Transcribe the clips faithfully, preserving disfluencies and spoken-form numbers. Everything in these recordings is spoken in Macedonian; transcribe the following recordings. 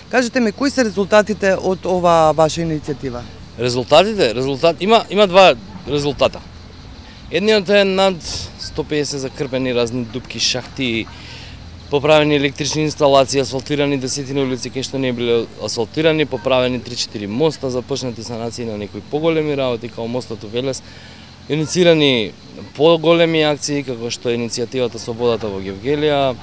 Кажете ми, кои се резултатите од ова ваша иницијатива? Резултатите, резултат има има два резултата. Едниот е над сто песет закрпени разни дупки, шахти, поправени електрични инсталации, асфалтирани десетина улици кај што не биле асфалтирани, поправени три-четири моста, започнати санации на некои поголеми работи како мостот у Велес, иницирани поголеми акции како што е иницијативата со водата во Гевгелија,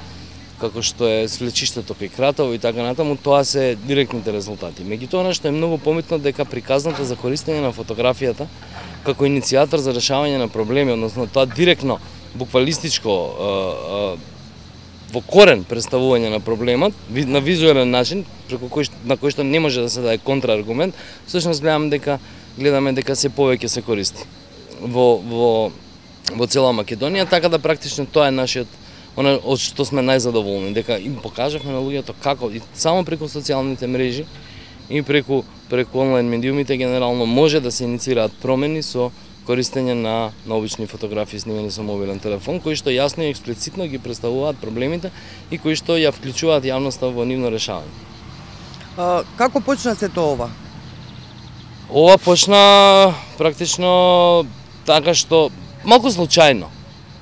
како што е свлечиштето кај Кратово и така натаму, тоа се директните резултати. Меѓутоа, што е многу пометно дека приказната за користење на фотографијата како иницијатор за решавање на проблеми, односно тоа директно, буквалистичко, во корен представување на проблемот, на визуелен начин, преку кој, на кој што не може да се даде контрааргумент, всушност гледаме дека гледаме дека се повеќе се користи во во во цела Македонија, така да практично тоа е нашиот она од што сме најзадоволни, дека им покажавме на луѓето како и само преку социјалните мрежи и преку преку онлайн медиумите генерално може да се иницираат промени со користење на на обични фотографии снимени со мобилен телефон, кои што јасно и експлицитно ги представуваат проблемите и кои што ја вклучуваат јавноста во нивно решавање. А, како почна сето ова? Ова почна практично така што малку случајно.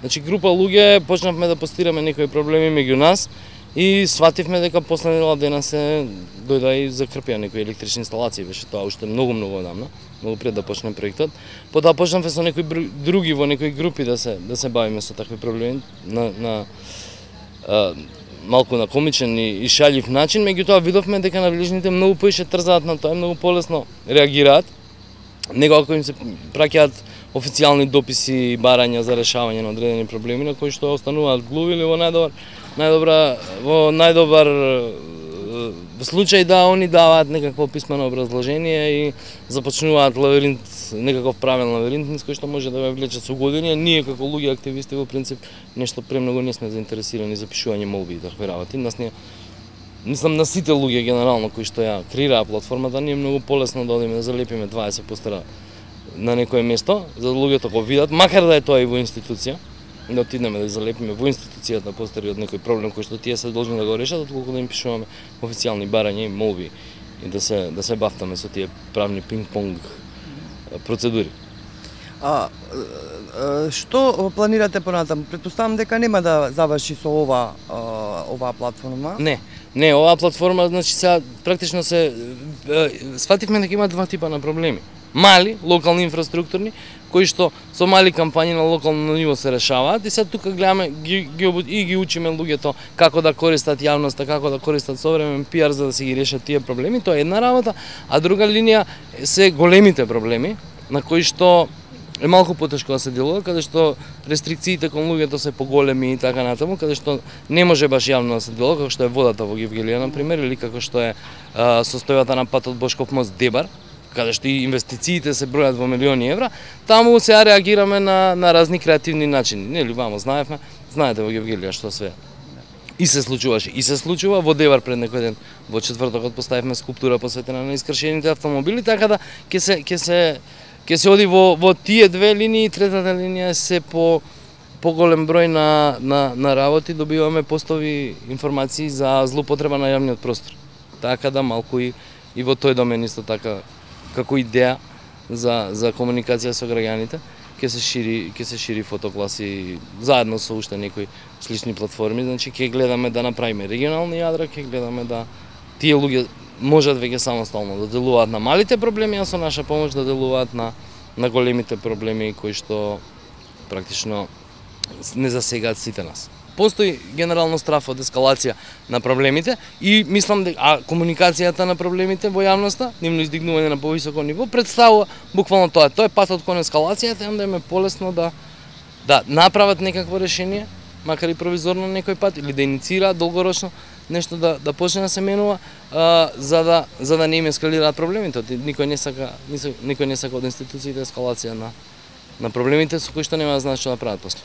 Значи група луѓе почнавме да постираме некои проблеми меѓу нас и свативме дека после недела дена се дојда и закрпија некои електрични инсталации, беше тоа уште многу многу одамна, многу пред да почне проектот. Потоа почнавме со некои други во некои групи да се да се бавиме со такви проблеми на на а, малку на комичен и, и шалјив начин, меѓутоа видовме дека надлежните многу поише трзаат на тоа, многу полесно реагираат, него ако им се праќаат официјални дописи и барања за решавање на одредени проблеми на кои што остануваат глуви или во најдобар најдобра во најдобар случај да они даваат некакво писмено образложение и започнуваат лавиринт, некаков правен лавиринт низ кој што може да ве влече со години. Ние како луѓе активисти во принцип нешто премногу не сме заинтересирани за пишување молби и такви работи. Нас не Мислам на сите луѓе генерално кои што ја креираа платформата, ние многу полесно да одиме да залепиме дваесет постера на некое место, за да луѓето го видат, макар да е тоа и во институција, да отидеме да залепиме во институцијата постери од некој проблем кој што тие се должни да го решат, отколку да им пишуваме официјални барања и молби и да се да се бафтаме со тие правни пинг-понг процедури. А, што планирате понатаму? Претпоставам дека нема да заврши со ова оваа платформа. Не, не, оваа платформа значи сега практично се сфативме дека има два типа на проблеми. Мали, локални инфраструктурни, кои што со мали кампањи на локално ниво се решаваат и сега тука гледаме ги, ги, и ги учиме луѓето како да користат јавноста, како да користат современ пиар за да се ги решат тие проблеми, тоа е една работа, а друга линија се големите проблеми на кои што е малку потешко да се делува, каде што рестрикциите кон луѓето се поголеми и така натаму, каде што не може баш јавно да се делува, како што е водата во Гевгелија на пример, или како што е а, состојбата на патот Бошков мост Дебар, каде што и инвестициите се бројат во милиони евра, таму сега реагираме на на разни креативни начини. Нели вамо знаевме, знаете во Гевгелија што све и се случуваше, и се случува во Дебар пред некој ден. Во четвртокот поставивме скулптура посветена на искршените автомобили, така да ќе се ќе се ќе се оди во во тие две линии, третата линија се по поголем број на на на работи, добиваме постови информации за злоупотреба на јавниот простор. Така да малку и и во тој домен исто така како идеја за за комуникација со граѓаните ќе се шири ќе се шири фотокласи заедно со уште некои слични платформи, значи ќе гледаме да направиме регионални јадра, ќе гледаме да тие луѓе можат веќе самостојно да делуваат на малите проблеми, а со наша помош да делуваат на на големите проблеми кои што практично не засегаат сите нас. Постои генерално страф од ескалација на проблемите и мислам дека а комуникацијата на проблемите во јавноста, нивно издигнување на повисоко ниво представува буквално тоа. Тоа е патот кон ескалацијата, и онда им е полесно да да направат некакво решение, макар и провизорно некој пат, или да иницираат долгорочно нешто да да почне да се менува, а, за да за да не им ескалираат проблемите. Никој не сака никој не сака од институциите ескалација на на проблемите со кои што нема да знаат што да прават после.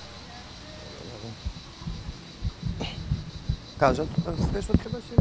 Кажат, све што требаше.